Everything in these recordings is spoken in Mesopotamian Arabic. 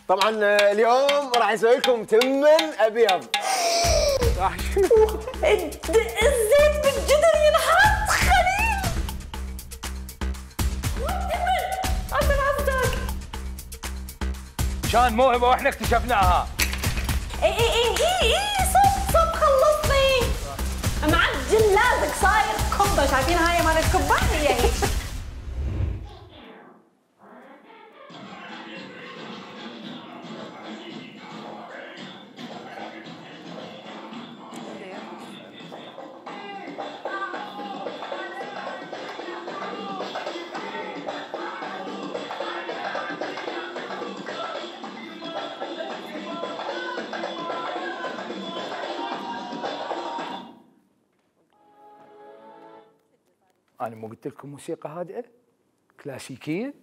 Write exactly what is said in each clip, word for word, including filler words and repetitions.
طبعا اليوم راح نسوي لكم تمن ابيض. راح الزيت بالجدر ينحط خليل. تمن عشان عبدك. كان موهبه واحنا اكتشفناها. اي اي اي اي اي صب صب خلصني. معجن لازق صاير كبه، شايفين هاي مال الكبه؟ هي هي. أنا مو قلت لكم موسيقى هادئة كلاسيكية؟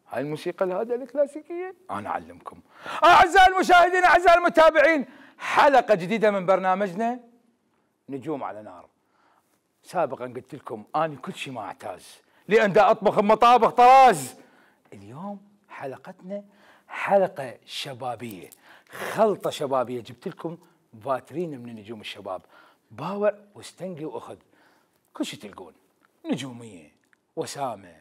هاي الموسيقى الهادئة الكلاسيكية أنا أعلمكم. أعزائي المشاهدين أعزائي المتابعين، حلقة جديدة من برنامجنا نجوم على نار. سابقا قلت لكم أنا كل شيء ما أعتاز لأن دا أطبخ بمطابخ طراز. اليوم حلقتنا حلقة شبابية، خلطة شبابية. جبت لكم فاترين من نجوم الشباب، باوع واستنقي وأخذ كل شيء تلقون، نجومية، وسامة،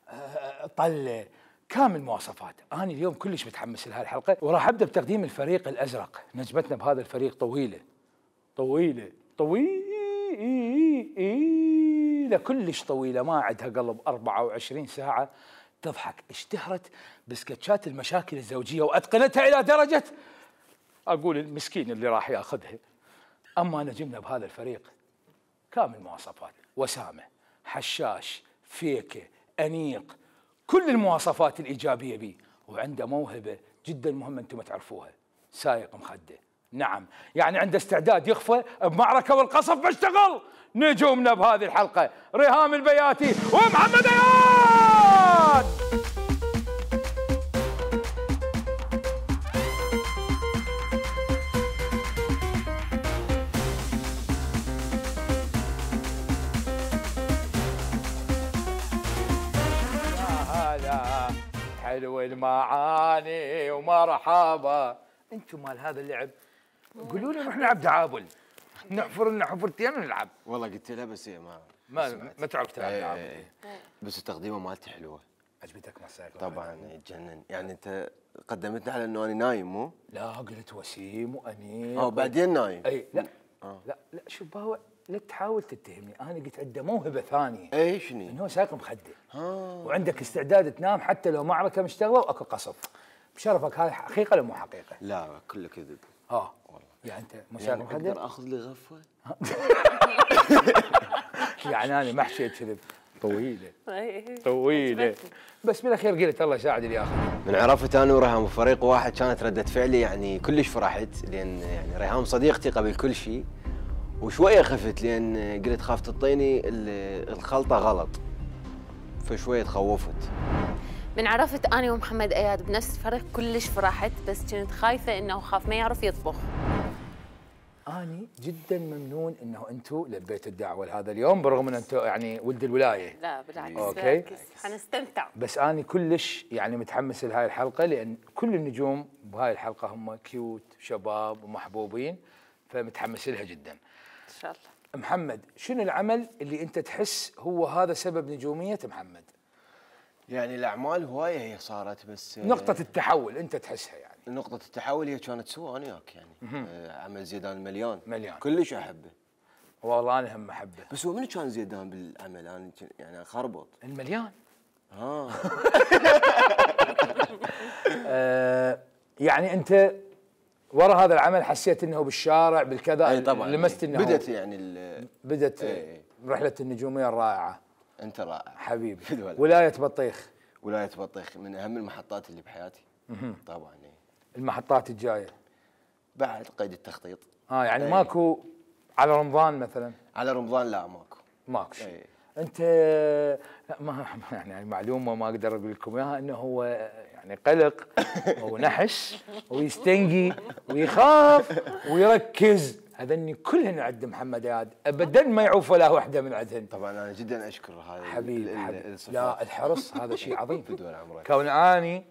أه، طلة، كامل مواصفات. أنا اليوم كلش متحمس لهذه الحلقة، وراح أبدأ بتقديم الفريق الأزرق. نجمتنا بهذا الفريق طويلة طويلة طويلة كلش طويلة، ما عندها قلب، أربعة وعشرين ساعة تضحك. اشتهرت بسكتشات المشاكل الزوجية وأتقنتها إلى درجة أقول المسكين اللي راح ياخذها. أما نجمنا بهذا الفريق كامل مواصفات، وسامة، حشاش، فيكة، أنيق، كل المواصفات الإيجابية بيه. وعنده موهبة جدا مهمة أنتم تعرفوها، سايق مخدة. نعم، يعني عنده استعداد يخفى بمعركة والقصف بيشتغل. نجومنا بهذه الحلقة ريهام البياتي ومحمد اياد. حلو المعاني ومرحبا. انتم مال هذا اللعب قولوا لي نروح نلعب دعابل، نحفر لنا حفرتين ونلعب. والله قلت لها بس هي ما ما ما تعرف تلعب دعابل. ايه بس التقديمه مالتي حلوه. عجبتك مساك؟ طبعا يتجنن. يعني انت قدمتني على انه انا نايم مو؟ لا قلت وسيم وانيق. اه بعدين نايم. اي لا آه. لا لا شوف باوع، لا تحاول تتهمني، انا قلت عنده موهبه ثانيه. اي شنو؟ انه هو سايق مخده. آه. وعندك استعداد تنام حتى لو معركه مشتغله واكو قصف. بشرفك، هاي حقيقه ولا مو حقيقه؟ لا كله كذب. اه والله. يعني انت مو سايق مخده؟ اقدر اخذ لي غفوه؟ يعني انا ما حكيت كذب. طويله طويله بس بالاخير قلت الله يساعد اللي ياخذ. من عرفت انا وريهام فريق واحد كانت رده فعلي يعني كلش فرحت، لان يعني ريهام صديقتي قبل كل شيء، وشويه خفت لان قلت خاف تعطيني الخلطه غلط، فشويه تخوفت. من عرفت انا ومحمد اياد بنفس الفريق كلش فرحت، بس كنت خايفه انه خاف ما يعرف يطبخ. أني جدا ممنون انه انتم لبيتوا الدعوه لهذا اليوم، برغم ان انتم يعني ولد الولايه. لا بالعكس، اوكي حنستمتع. بس أنا كلش يعني متحمس لهاي الحلقه، لان كل النجوم بهاي الحلقه هم كيوت شباب ومحبوبين، فمتحمس لها جدا. ان شاء الله. محمد، شنو العمل اللي انت تحس هو هذا سبب نجوميه محمد؟ يعني الاعمال هوايه هي صارت، بس نقطه التحول انت تحسها يعني. نقطة التحول هي كانت سوا انا وياك يعني. آه عمل زيدان المليان مليان. كلش احبه. والله انا هم احبه. بس هو منو كان زيدان بالعمل؟ انا يعني خربط. المليان. ها. آه يعني انت ورا هذا العمل حسيت انه بالشارع بالكذا؟ اي طبعا. لمست انه بدت يعني بدت ايه رحله النجوميه الرائعه. انت رائع حبيبي. في ولايه بطيخ. ولايه بطيخ من اهم المحطات اللي بحياتي. طبعا ايه. المحطات الجايه بعد قيد التخطيط. اه يعني ايه. ماكو على رمضان مثلا؟ على رمضان لا ماكو. ماكو شيء. ايه. انت لا ما يعني معلومه ما اقدر اقول لكم اياها انه هو يعني قلق ونحس ويستنقي ويخاف ويركز، هذني كلهن عند محمد اياد ابدا ما يعوف ولا وحده من عندهن. طبعا انا جدا اشكر هذا حبيبي حبيبي. لا الحرص هذا شيء عظيم في دول عمرك. كون اني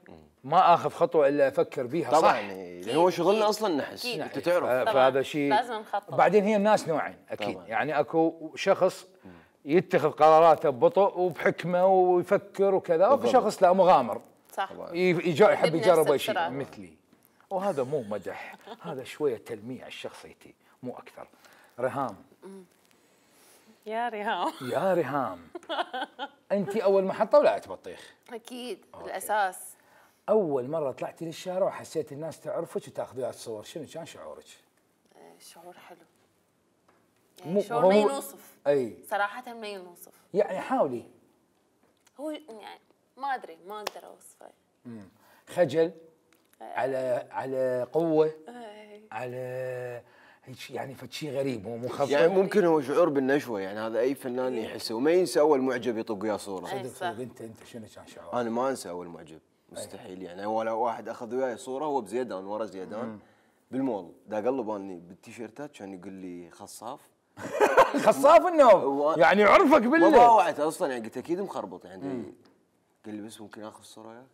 ما اخذ خطوه الا افكر بيها طبعا صح. يعني هو شغلنا اصلا نحس انت تعرف. فهذا شيء لازم نخطط. بعدين هي الناس نوعين اكيد طبعاً. يعني اكو شخص يتخذ قراراته ببطء وبحكمه ويفكر وكذا، وفي شخص لا مغامر صح. يجا يحب بنفس يجرب اي شيء السرعة. مثلي. وهذا مو مدح، هذا شويه تلميع الشخصيتي مو اكثر. ريهام. يا ريهام. يا ريهام انت اول محطه ولايه بطيخ؟ اكيد بالاساس. اول مره طلعتي للشارع وحسيت الناس تعرفك وتاخذي صور، شنو كان شعورك؟ شعور حلو مو- يعني شعور هو- ما ينوصف اي صراحة، ما ينوصف. يعني حاولي. هو يعني ما ادري ما اقدر اوصفه. خجل على على قوه أي. على هيك يعني فد شيء غريب مو مخفف. يعني ممكن هو شعور بالنشوه يعني هذا اي فنان يحسه وما ينسى اول معجب يطق وياه صوره. أي. صدق صح. صدق. انت انت شنو كان شعورك؟ انا ما انسى اول معجب مستحيل يعني. ولا واحد اخذ وياي صوره هو بزيدان ورا زيدان بالمول دا قلب اني بالتيشيرتات كان يقول لي خصاف. خصاف انه و- يعني عرفك ما بالله. باوعت اصلا يعني قلت اكيد مخربط يعني. قال لي بس ممكن اخذ صوره وياك.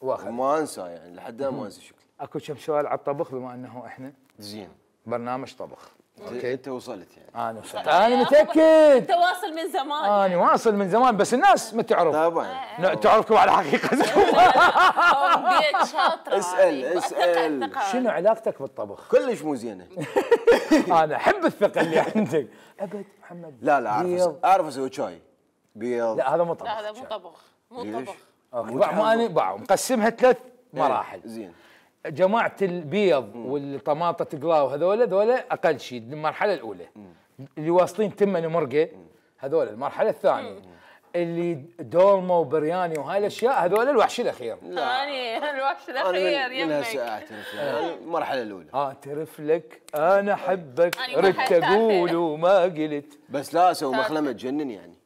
واخذ. ما انسى يعني لحد الان ما انسى شكله. اكو كم سؤال على الطبخ بما انه احنا زين. برنامج طبخ. اوكي انت وصلت يعني. انا وصلت. انا متاكد. تواصل من زمان. انا واصل من زمان بس الناس ما تعرف. طبعا. لا تعرفكم على حقيقتكم. بيت شاطرة. اسأل- هذه. اسأل. ثقة- ثقة. شنو علاقتك بالطبخ؟ كلش مو زينه. انا احب الثقه اللي عندك. ابد محمد. لا لا اعرف بيض. أس- اعرف اسوي شاي بيض. لا هذا مو طبخ. لا هذا مو طبخ مو ليش؟ طبخ. اوكي باع مو انا باع مقسمها ثلاث مراحل. زين. جماعه البيض والطماطه تقلاو هذول هذول اقل شيء المرحله الاولى. اللي واصلين تمن مرقه هذول المرحله الثانيه. اللي دولمه وبرياني وهاي الاشياء هذول الوحش الاخير. ثاني الوحش انا الاخير من, من هسه يمك. اعترف يعني المرحله الاولى. اعترف لك انا احبك أنا ردت المرحلة اقول وما قلت. بس لا اسوي مخلمه تجنن يعني.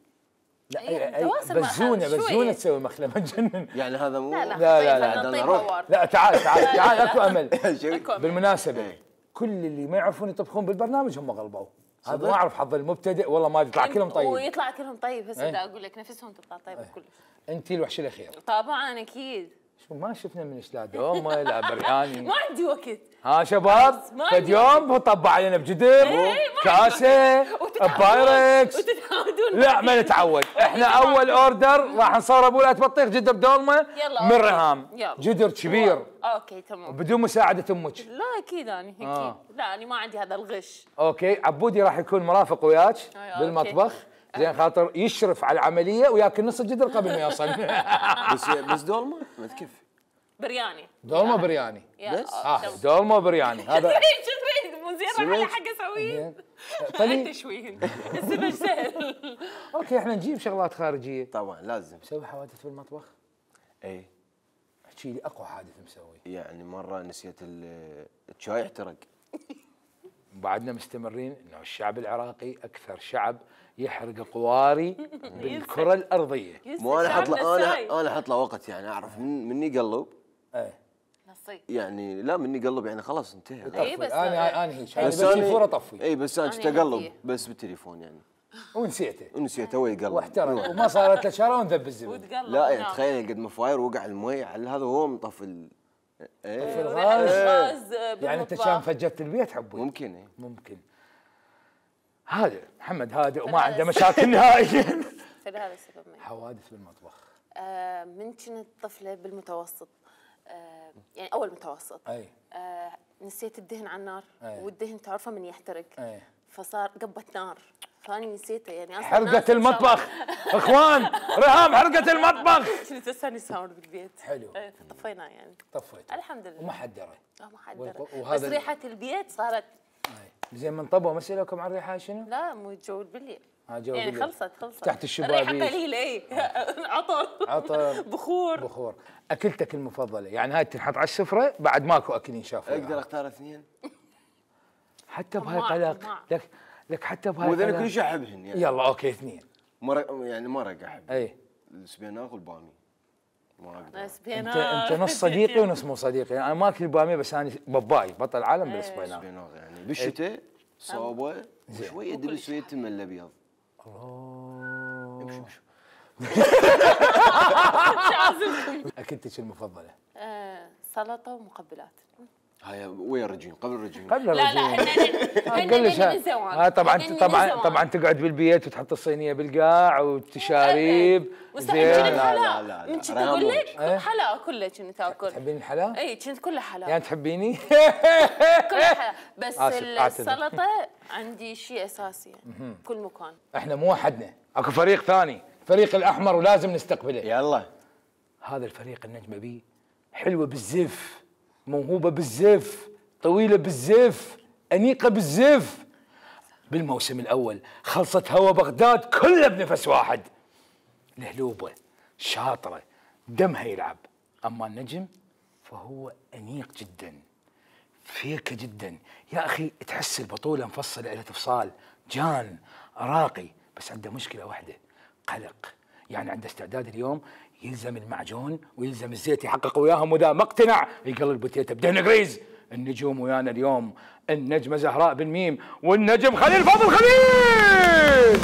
لا إيه، أي- أي تواصل مع بزونه حالك بزونه شوية. تسوي مخلمه تجنن. يعني هذا مو لا لا لا، لا، لا، خلينا بدنا نطيب نروح. هوار. لا تعال تعال تعال اكو امل. شيء. أكو أمل. بالمناسبه إيه. كل اللي ما يعرفون يطبخون بالبرنامج هم غلبوا. هذا ما اعرف حظ المبتدئ والله ما يطلع كلهم طيب. ويطلع كلهم طيب هسه إيه. دا اقول لك نفسهم تطلع طيب كلش. انت الوحش الاخير. طبعا اكيد. شو ما شفنا من لا دومه لا برياني. ما عندي وقت. ها شباب ما فد عندي يوم طبع علينا بجدر إيه، ما كاسه وتتعودون- بايركس. وتتعودون لا ما نتعود احنا اول اوردر راح نصور ابو بطيخ جدر دولمه يلا، من أوكي. ريهام يلا. جدر كبير اوكي تمام. بدون مساعده امك. لا اكيد انا اكيد آه. لا انا ما عندي هذا الغش. اوكي عبودي راح يكون مرافق وياك أيوة، بالمطبخ زين خاطر يشرف على العمليه وياكل نص الجدر قبل ما يوصل. بس بس دولمه ما تكفي. برياني. دولمه برياني يا بس؟ اه تمام. دولمه برياني هذا. تريد شو تريد مو زين راح سمعت؟ حق اسويه. زين. انت طيب شوي السمك سهل. اوكي احنا نجيب شغلات خارجيه. طبعا لازم. مسوي حوادث بالمطبخ؟ اي احكي لي اقوى حادث مسوي. يعني مره نسيت ال- الشاي احترق. بعدنا مستمرين انه الشعب العراقي اكثر شعب يحرق قواري بالكره الارضيه. مو انا احط له شعبنا انا الساي. انا احط له وقت يعني اعرف من مني قلب ايه نصيب. يعني لا مني قلب يعني خلاص انتهى. إيه طفي. بس- انا انا هيك انا بس بس أنا- الفوره طفي اي بس انا أنا كنت اقلب هدية. بس بالتليفون يعني ونسيته ونسيته هو يقلب. واحترق وما صارت له شاره ونذب الزبد. وتقلب لا يعني ونام. تخيل قد ما فاير وقع المي على هذا وهو مطفي ال- في ايه الغاز. الغاز يعني انت بالمطبخ. كان فجرت البيت حبوي. ممكن ايه. ممكن. هذا محمد هادئ وما هذا عنده السبب. مشاكل نهائيا. فلهذا السبب ما حوادث بالمطبخ. آه، من كنت طفلة بالمتوسط آه يعني اول متوسط. اي آه نسيت الدهن على النار، أي. والدهن تعرفه من يحترق. اي فصار قبت نار، فاني نسيته يعني اصلا. حرقة المطبخ اخوان، ريهام حرقة المطبخ. كنت استاني ساوند بالبيت. حلو. ايه طفيناه يعني. طفيته الحمد لله. وما حد درى. لا ما حد درى. وهذا بس ريحة البيت صارت. أي. زين من طبوا ما سألوكم عن ريحة شنو؟ لا مو جو بالليل. ها جو يعني بالليل. خلصت خلصت تحت الشبابيك. الريحة قليلة اي. عطر عطر بخور بخور. اكلتك المفضلة يعني هاي تنحط على السفرة بعد ماكو اكل ينشاف. اقدر اختار اثنين؟ حتى بهاي طماع، قلق طماع. لك لك حتى بهاي واذا انا قلق. كل شيء احبهن يعني. يلا اوكي اثنين. مرق يعني مرق احب. اي السبيناق والبامي. ما اقدر. انت انت نص صديقي ونص مو صديقي، يعني انا ما اكل باميه بس انا باباي بطل العالم بالسبيناق. السبيناق يعني بالشتاء صوبه شويه دبس ويا التمر الابيض. الله. امشي امشي. اكلتك المفضله؟ آه سلطة ومقبلات. هاي ويا الرجيم قبل الرجيم. قبل لا لا الرجيم. هن قل لي هن زوان. ها طبعا هن طبعا زوان. طبعا تقعد بالبيت وتحط الصينيه بالقاع والتشاريب. زين لا، لا لا، لا لا، من كنت ريهام اقول لك إيه؟ حلا كله كنت اكل. تحبين الحلا؟ اي كنت كلها حلا. يعني تحبيني؟ كلها حلا بس آسف، أعتذر. السلطة عندي شيء اساسي يعني كل مكان. احنا مو وحدنا، اكو فريق ثاني، فريق الاحمر ولازم نستقبله. يلا. هذا الفريق النجمه بيه حلوه بالزف، موهوبه بالزف، طويله بالزف، انيقه بالزف. بالموسم الاول خلصت هوا بغداد كلها بنفس واحد. لهلوبه شاطره دمها يلعب، اما النجم فهو انيق جدا فيكه جدا. يا اخي تحس البطوله مفصله الى تفصال، جان راقي، بس عنده مشكله واحده، قلق. يعني عنده استعداد اليوم يلزم المعجون ويلزم الزيت يحقق وياهم، واذا ما اقتنع يقلل بوتيته بدهن غريز. النجوم ويانا اليوم النجمه زهراء بالميم والنجم خليل فاضل خليل.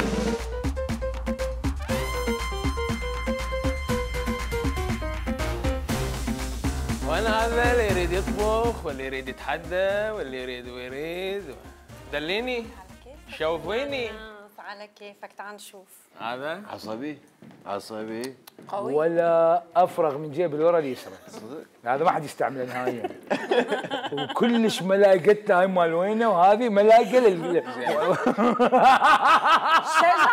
وانا هذا اللي يريد يطبخ واللي يريد يتحدى واللي يريد ويريد. دليني شوفيني. على كيفك تعال نشوف. هذا عصبي عصبي قوي. ولا افرغ من جيب الورا اليسرى. صدق. هذا ما حد يستعمله نهائيا. وكلش ملاقتنا هاي مال وينه، وهذه ملاقه لل شجعة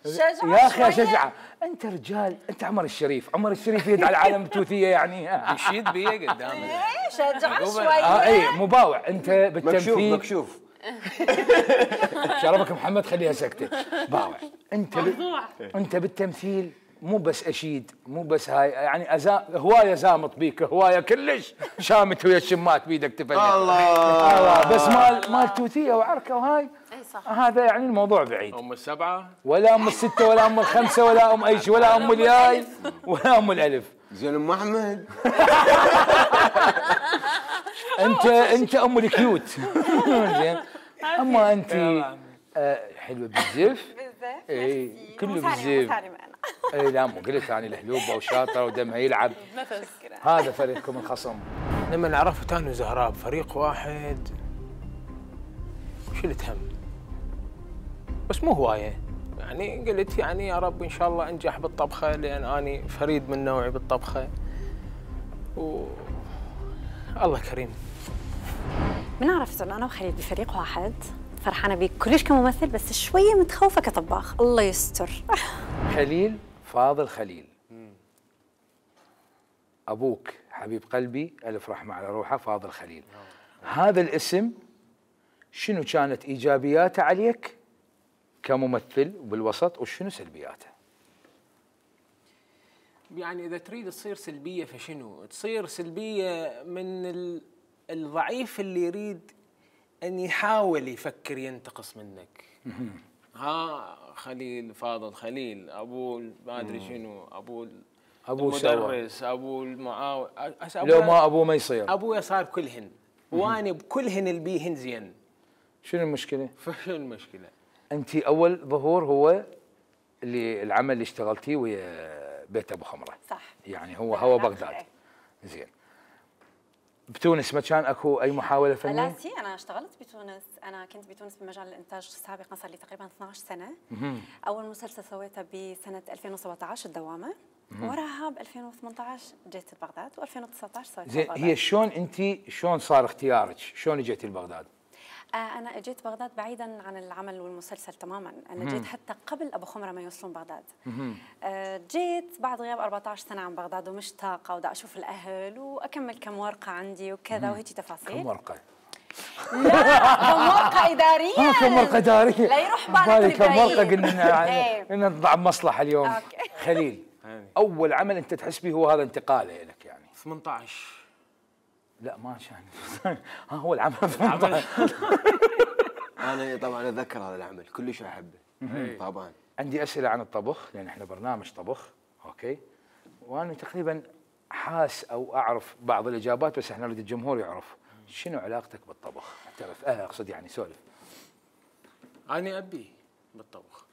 شجعة يا اخي يا شوية. شجعه، انت رجال، انت عمر الشريف، عمر الشريف يد على العالم التوثيه يعني. يشيد بي قدامك. إيه، شجعة عقوبة. شوية. اه اي مباوع انت مكشوف بالتمثيل. مكشوف. شرفك محمد خليها سكته. باوع انت ب... انت بالتمثيل مو بس اشيد، مو بس هاي يعني أزا... هوايه زامط بيك، هوايه كلش شامت ويا الشمات بيدك تفلت. الله. الله بس مال مال توثيه وعركه وهاي. اي صح. هذا يعني الموضوع بعيد. ام السبعه ولا ام السته ولا ام الخمسه ولا ام اي شيء ولا ام الياي ولا ام الالف. زين ام احمد. انت انت ام الكيوت. زين اما انت آه حلوه بالزيف. بالزيف. اي ميرسي. كله مو ثاني- مو بالزيف. ثاني معنا. اي لا مو قلت انا لهلوبه وشاطره ودمها يلعب. نفس. هذا فريقكم الخصم. لما عرفت انا وزهراء بفريق واحد شلت هم، بس مو هوايه يعني. قلت يعني يا رب ان شاء الله انجح بالطبخه، لان اني فريد من نوعي بالطبخه. و الله كريم. من عرفت انه انا وخليل بفريق واحد، فرحانه بيك كلش كممثل بس شويه متخوفه كطباخ. الله يستر. خليل فاضل خليل. ابوك حبيب قلبي الف رحمه على روحه فاضل خليل. هذا الاسم شنو كانت ايجابياته عليك كممثل بالوسط وشنو سلبياته؟ يعني اذا تريد تصير سلبيه فشنو؟ تصير سلبيه من ال- الضعيف اللي يريد ان يحاول يفكر ينتقص منك. ها خليل فاضل خليل، ابوه ما ادري شنو، ابوه ابوه سوا المدرس، ابوه المعاون. لو ما ابوه ما يصير. ابويا صار كلهن وانا بكلهن اللي بيهن زين. شنو المشكله؟ فشنو المشكله؟ انت اول ظهور هو اللي العمل اللي اشتغلتيه ويا بيت ابو خمره. صح. يعني هو هو بغداد. زين. بتونس ما كان اكو اي محاوله فنيه؟ لا سي انا اشتغلت بتونس، انا كنت بتونس بمجال الانتاج سابقا صار لي تقريبا اثنعش سنه. اول مسلسل سويته بسنه ألفين وسبعطعش الدوامه. وراها ب ألفين وثمانية عشر جيت بغداد و2019 سويت زين بغداد. هي شلون انت شلون صار اختيارك؟ شلون اجيتي لبغداد؟ آه انا اجيت بغداد بعيدا عن العمل والمسلسل تماما، انا جيت حتى قبل ابو خمره ما يوصلون بغداد. آه جيت بعد غياب أربعة عشر سنه عن بغداد ومشتاقه ودا اشوف الاهل واكمل كم ورقه عندي وكذا وهيك تفاصيل. كم ورقه؟ لا كم ورقه اداريه. ها كم ورقه اداريه؟ لا يروح بالك كم ورقه البعيد. قلنا إيه. قلنا نطلع بمصلحه اليوم. أوكي. خليل اول عمل انت تحس به هو هذا انتقاله لك يعني؟ ثمانية عشر. لا ما كان ها هو العمل ثمانية عشر. انا طبعا اتذكر هذا العمل كلش احبه طبعا. عندي اسئله عن الطبخ لان احنا برنامج طبخ، اوكي؟ وانا تقريبا حاس او اعرف بعض الاجابات بس احنا نريد الجمهور يعرف شنو علاقتك بالطبخ؟ اعترف اه اقصد يعني سولف. انا ابي بالطبخ.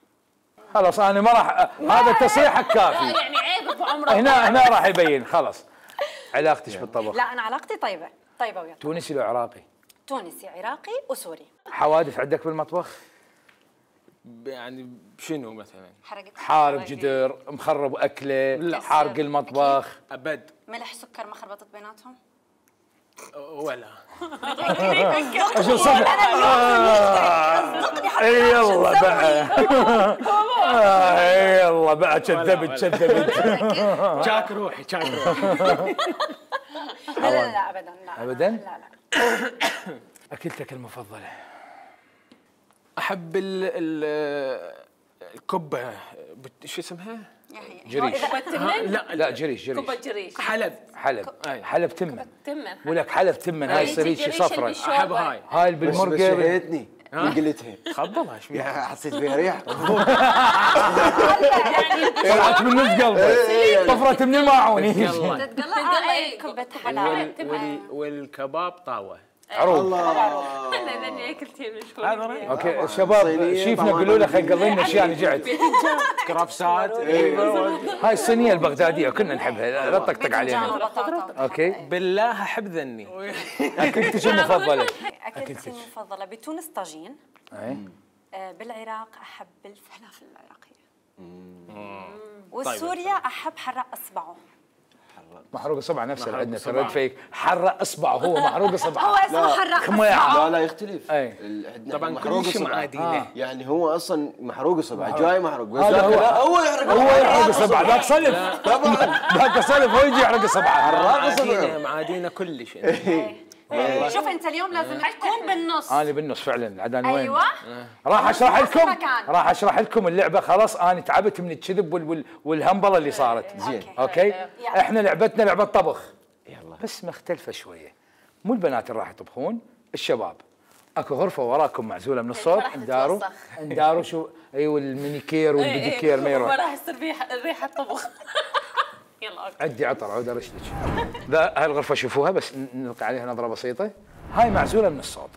خلاص انا ما راح هذا تصريحك كافي. يعني عيب ابو عمره. هنا هنا راح يبين خلاص علاقتك بالطبخ. لا انا علاقتي طيبه طيبه ويا تونسي لو عراقي؟ تونسي عراقي وسوري. حوادث عندك بالمطبخ؟ يعني شنو مثلا؟ حرقت حارق جدر، مخرب اكله، لا. حارق المطبخ. ابد ملح سكر ما خربطت بيناتهم؟ ولا. شو صدق؟ اي يلا بقى. اي يلا بقى كذبت كذبت. جاك روحي جاك روحي. لا لا لا ابدا لا أبداً؟ لا لا. اكلتك المفضله؟ احب ال ال الكبه بت- شو اسمها؟ جريش. ها، لا لا جريش جريش. كوبا جريش. حلب. حلب أي. حلب تمن. تمن. ولك حلب تمن هاي سريشي صفرة. احب هاي. هاي بس بالمرقه شهيتني من قلتها. خبلها شو يا حسيت فيها ريحه. طلعت من نص قلبه طفرت من الماعون. يلا. تتقلع اي كبه حلال. وال- والكباب طاوه. عروض. انا لاني اكلتين من شوي. هذا رأيي. اوكي الشباب صينية شيفنا طبعاً. قولوا له خلي قضي لنا اشياء نجعت. كرافسات. هاي الصينيه البغداديه كنا نحبها لا تطقطق علينا. بطاطا. اوكي بالله احب ذني. اكلتك شو المفضله؟ اكلتي المفضله بتونس طاجين. اي آه، بالعراق احب الفلافل العراقيه. وسوريا احب حراق اصبعه. محروق اصبع نفسه اللي عندنا ترد فيك حرق اصبعه هو محروق هو اصبعه. اسمه حراق خميعة. اصبعه. لا لا يختلف. أي. ال- عندنا طبعا محروق كل شيء إصبع. معادينه. يعني هو اصلا محروق اصبع جاي محروق بس هذا ذاك هو. لا، هو يحرق هو يحرق اصبعه ذاك صلف ذاك صلف هو يجي يحرق اصبعه. معادينه معادينه كل شيء. شوف انت اليوم لازم تكون بالنص. انا بالنص فعلا عدان وين؟ ايوه راح اشرح لكم مكان. راح اشرح لكم اللعبه خلاص انا تعبت من الكذب وال وال والهمبله اللي صارت. زين. اوكي يلا. احنا لعبتنا لعبه طبخ يلا. بس مختلفه شويه. مو البنات اللي راح يطبخون الشباب. اكو غرفه وراكم معزوله من الصوت راح انداروا تتوسخ. انداروا شو ايوه المينيكير والبيديكير ما ما يروح. راح يصير ريحه ريحه طبخ. يلا اوكي. عدي عطر عود ارشلك. ذا هاي الغرفه شوفوها بس نلقي عليها نظره بسيطه. هاي معزوله من الصوت.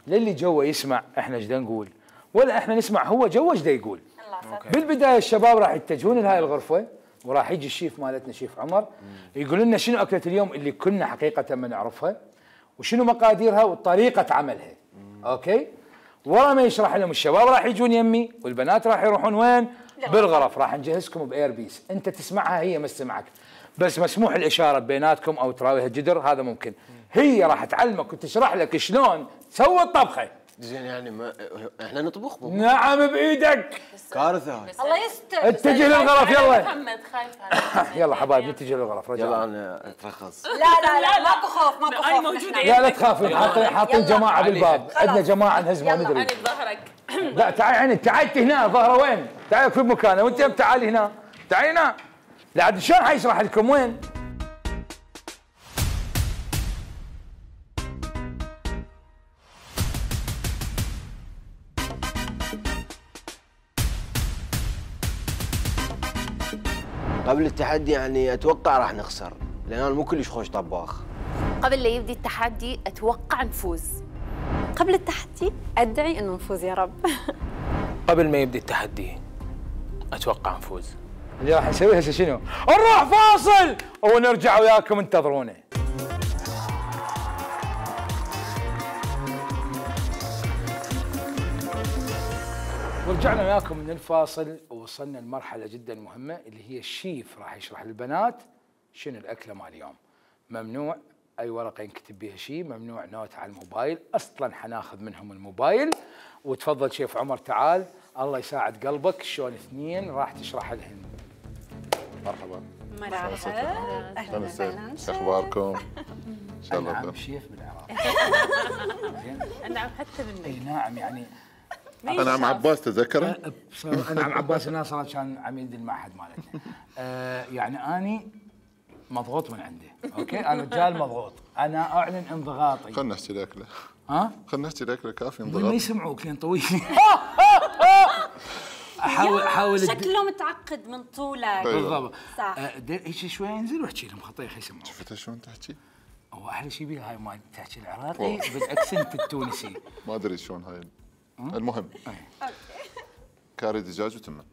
للي جوا يسمع احنا ايش نقول ولا احنا نسمع هو جوا ايش يقول. الله ستر. بالبدايه الشباب راح يتجهون لهاي الغرفه وراح يجي الشيف مالتنا شيف عمر يقول لنا شنو اكله اليوم اللي كنا حقيقه ما نعرفها وشنو مقاديرها وطريقه عملها. اوكي ورا ما يشرح لهم الشباب راح يجون يمي والبنات راح يروحون وين؟ بالغرف. راح نجهزكم باير بيس انت تسمعها هي ما تسمعك بس مسموح الاشاره بيناتكم او تراويها جدر هذا ممكن. هي راح تعلمك وتشرح لك شلون تسوي الطبخه. زين يعني ما احنا نطبخ مو نعم بايدك. كارثه هاي. الله يستر. اتجه للغرف يلا. محمد خايف. يلا حبايبي نتجه للغرف رجع. يلا انا اترخص. لا لا لا ماكو خوف ماكو أنا خوف. موجودة. نحن. لا لا تخافي حاطين حاطين يلا. جماعه بالباب عندنا جماعه نهز ما يلا. ندري. انا بظهرك. لا تعالي عيني تعالي هنا ظهره وين؟ تعالي في مكانه وانت تعالي هنا تعالي هنا. لا عاد شلون حيشرح لكم وين؟ قبل التحدي يعني اتوقع راح نخسر لان انا مو كلش خوش طباخ. قبل لا يبدي التحدي اتوقع نفوز. قبل التحدي ادعي انه نفوز يا رب. قبل ما يبدي التحدي اتوقع نفوز. اللي راح نسويه هسه شنو؟ نروح فاصل ونرجع وياكم انتظرونا. ورجعنا وياكم من الفاصل ووصلنا لمرحلة جدا مهمة اللي هي الشيف راح يشرح للبنات شنو الأكلة مال اليوم. ممنوع أي ورقة ينكتب بها شيء، ممنوع نوت على الموبايل، أصلا حناخذ منهم الموبايل. وتفضل شيف عمر تعال، الله يساعد قلبك، شلون اثنين راح تشرح لهن. مرحبا. مرحبا. أهلا وسهلا. شو أخباركم؟ إن شاء الله نعم بخير. شيف بالعراق. نعم حتى منك. اي نعم يعني أنا عم عباس تذكره؟ انا عم عباس الناصر كان عميد المعهد مالتنا. آه يعني اني مضغوط من عنده، اوكي؟ انا رجال مضغوط، انا اعلن انضغاطي. خلنا نحكي الأكلة. ها؟ خلنا نحكي الأكلة كافي ما انضغاط. يسمعوك لين طويل. احاول احاول شكله متعقد من طولك. بالضبط. صح. آه، دير هيك شوي انزل واحكي لهم خطيخ يسمعوك. شفت شلون تحكي؟ هو احلى شيء بيها هاي ما تحكي العراقي بالاكسنت التونسي. ما أدري شلون هاي. المهم كاري دجاج وتمن.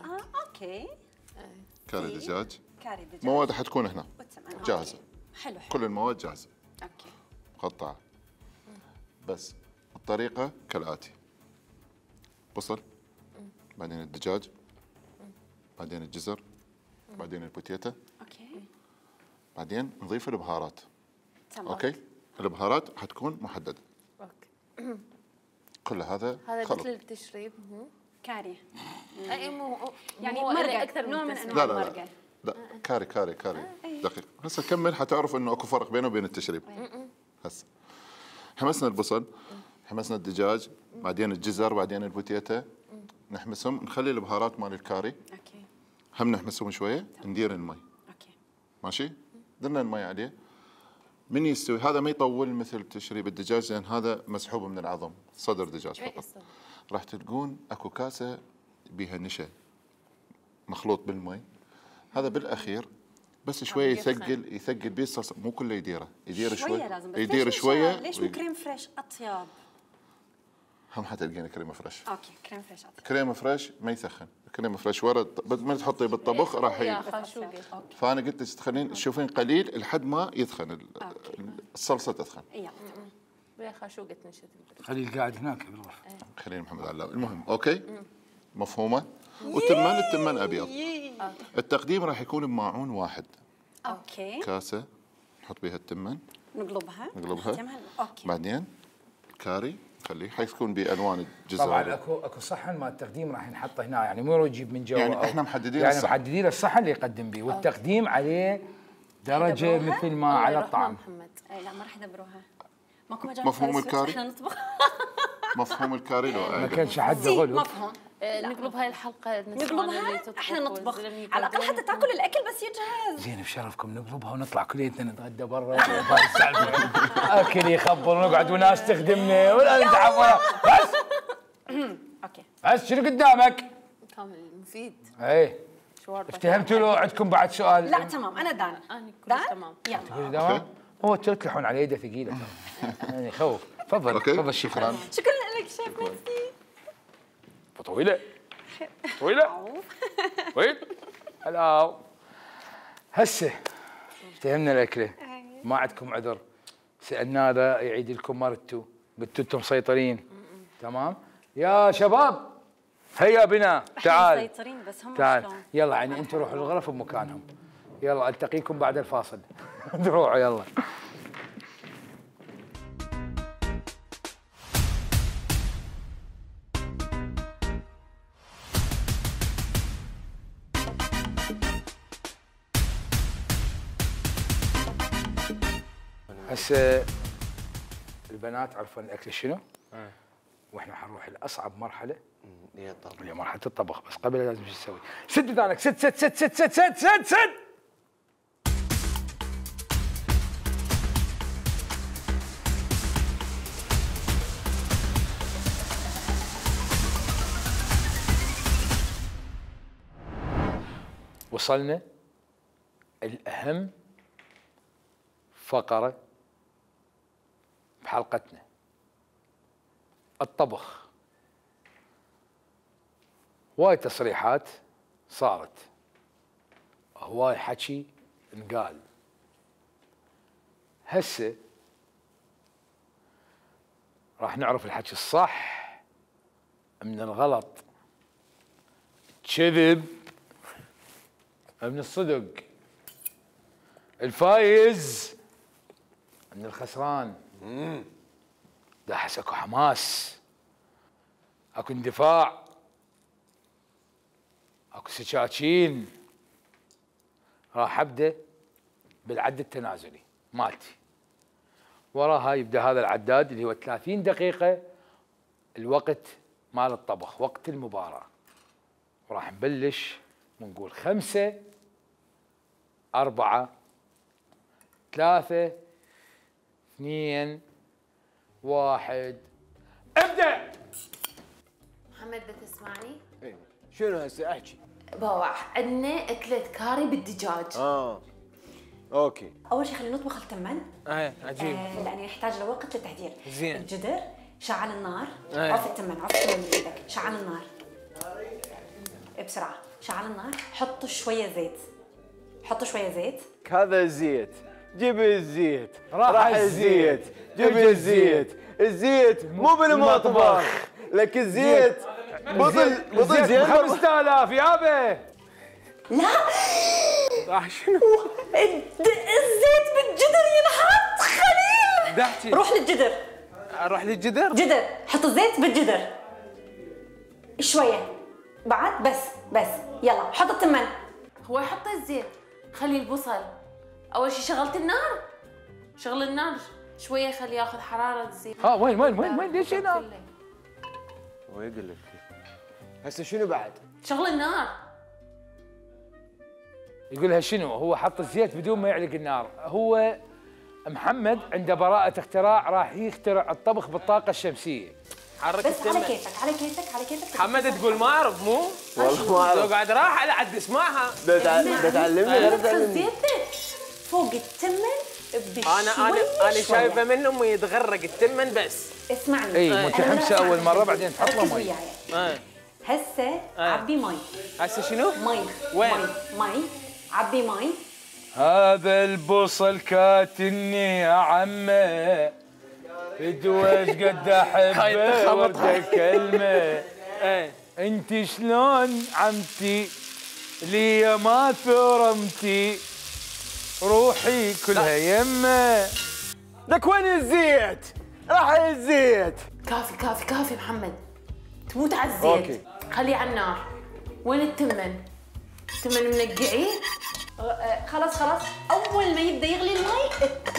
اه اوكي. كاري دجاج. كاري دجاج. مواد حتكون هنا وتمن. جاهزة. حلو حلو. كل المواد جاهزة اوكي. مقطعة. بس الطريقة كالآتي: بصل، بعدين الدجاج، بعدين الجزر، بعدين البوتيتا، اوكي. بعدين نضيف البهارات. تمام. اوكي؟ البهارات حتكون محددة. اوكي. كل هذا هذا خلط. مثل التشريب. مهم. كاري. اي مو يعني مو مرقة، اكثر نوع من تسمية. انواع لا لا المرقة. لا لا كاري كاري كاري دقيق. هسه كمل حتعرف انه اكو فرق بينه وبين التشريب. هسه حمسنا البصل، حمسنا الدجاج، بعدين الجزر، بعدين البوتيتا، نحمسهم، نخلي البهارات مال الكاري اوكي. هم نحمسهم شويه، ندير المي. اوكي. ماشي؟ درنا المي عليه. من يستوي هذا ما يطول مثل تشريب الدجاج لان هذا مسحوب من العظم، صدر دجاج إيه، فقط. الصدر. راح تلقون اكو كاسه بيها نشا مخلوط بالمي. هذا بالاخير بس شويه يثقل يثقل بيه الصلصه، مو كله يديره، يدير شوي شوية لازم. بس يدير ليش شويه. ليش مو كريم فريش اطيب؟ هم حتلقين كريمه فريش. اوكي كريم فريش اطيب. كريمه فريش ما يسخن، كريمه فريش ورا بس ما تحطيه بالطبخ راح يا ي... خاشوقة. اوكي. فانا قلت لك تخلين تشوفين قليل لحد ما يثخن ال- الصلصه تثخن. يلا. ويا خاشوقة نشت البرد. خليه قاعد هناك بالغرفه. خليل محمد علاوي. المهم اوكي مفهومه. والتمان التمان ابيض. التقديم راح يكون بماعون واحد، اوكي. كاسه نحط بها التمان نقلبها. نقلبها. نختمها. اوكي. بعدين كاري خليه حيكون بالوان الجزر. طبعا اكو اكو صحن مال التقديم راح ينحط هنا، يعني مو يجيب من جوا. يعني أو- إحنا محددين يعني الصحن. محددين الصحن اللي يقدم به، والتقديم عليه درجه يدبروها؟ مثل ما الله على يرحمه الطعام. محمد. اي لا ما راح يدبروها. ماكو مجال مفهوم فارس الكاري؟ احنا نطبخ. مفهوم الكاري لو ما أعيده. كانش حد زي غلو. مفهوم. آه، نقلب هاي الحلقة نسمعنا اللي نقلبها تطبخ احنا نطبخ والزلمة على الاقل يقدم. حتى تاكل الاكل بس يجهز. زين بشرفكم نقلبها ونطلع كليتنا نتغدى برا. اكل يخبر ونقعد وناس تخدمنا ولا نتعب ولا بس. اوكي. بس شنو قدامك؟ كامل مفيد. اي شوارب. افتهمتوا له عندكم بعد سؤال؟ لا تمام انا دان. انا كلش دان تمام. يلا. تقولي تمام؟ هو تلحون على يده ثقيله ترى. يعني يخوف. تفضل أوكي. تفضل شيف. شكراً. شكرا لك شيف ميرسي. طويله طويله طويل. هلا هسه افتهمنا الاكله، ما عندكم عذر. سالنا هذا يعيد لكم مرتو، قلتوا انتم مسيطرين. تمام يا شباب، هيا بنا تعال مسيطرين بس هم تعال شلون؟ يلا. يعني انتم روحوا الغرف بمكانهم. يلا التقيكم بعد الفاصل. روحوا يلا. هسه البنات عرفوا الاكل شنو؟ واحنا حنروح لاصعب مرحله يا طبعا. اللي هي مرحله الطبخ. بس قبل لازم شو تسوي؟ سد ودانك، سد سد سد سد سد سد سد سد. وصلنا الأهم فقرة بحلقتنا، الطبخ. هواي تصريحات صارت، هواي حكي انقال. هسه راح نعرف الحكي الصح من الغلط، كذب من الصدق، الفايز من الخسران. ده احس اكو حماس، اكو اندفاع، اكو سكاكين. راح ابدا بالعد التنازلي مالتي. وراها يبدا هذا العداد اللي هو ثلاثين دقيقة الوقت مال الطبخ، وقت المباراة. وراح نبلش ونقول خمسة أربعة ثلاثة اثنين واحد ابدأ. محمد بتسمعني؟ إيه. شنو هسه احكي؟ بابا عندنا أكلة كاري بالدجاج. اه اوكي. اول شيء خلينا نطبخ التمن. ايه عجيب. آه لانه يحتاج لوقت للتحضير. زين. الجدر شعل النار. أيه. عف التمن، عف التمن بايدك، شعل النار بسرعه، شعل النار، حط شويه زيت، حط شويه زيت. هذا الزيت، جيب الزيت، راح راح الزيت. الزيت، جيب الزيت، الزيت مو بالمطبخ، لك الزيت بطل بطل زين. خمسة آلاف يابا. لا راح شنو؟ الد- الزيت بالجدر ينحط خليل. دحتي روح للجدر، اروح للجدر. جدر، حط الزيت بالجدر شويه بعد، بس بس يلا حط التمن. هو يحط الزيت، خلي البصل. أول شيء شغلت النار، شغل النار شوية، خليه ياخذ حرارة الزيت. ها وين وين وين وين ليش هنا؟ ويقول لك هسه شنو بعد؟ شغل النار. يقولها شنو؟ هو حط الزيت بدون ما يعلق النار. هو محمد عنده براءة اختراع، راح يخترع الطبخ بالطاقة الشمسية. حرك بس على التمن. كيفك على كيفك على كيفك. محمد تقول ما اعرف مو؟ والله ما اعرف. لو قاعد راح على عد اسمعها. ده تع- ده تعلمني غير ادخل تعلمني. زيتك فوق التمن بشوي. انا انا انا شايفه منهم يتغرق التمن بس. اسمعني. اي أنا متحمسة لا أول أسمع. مرة بعدين تحط له ركز مي. وياي. ايه هسه عبي مي. هسه شنو؟ مي. وين؟ مي مي عبي مي. هذا البصل كاتني يا عمه، ادوش قد احبه ورده كلمه. ايه انت شلون عمتي لي ما ثرمتي، روحي كلها يمه. لك وين الزيت؟ راح الزيت. كافي كافي كافي محمد، تموت على الزيت. أوكي. خليه على النار. وين التمن؟ التمن منقعيه؟ آه، خلاص خلاص، اول ما يبدا يغلي المي الت-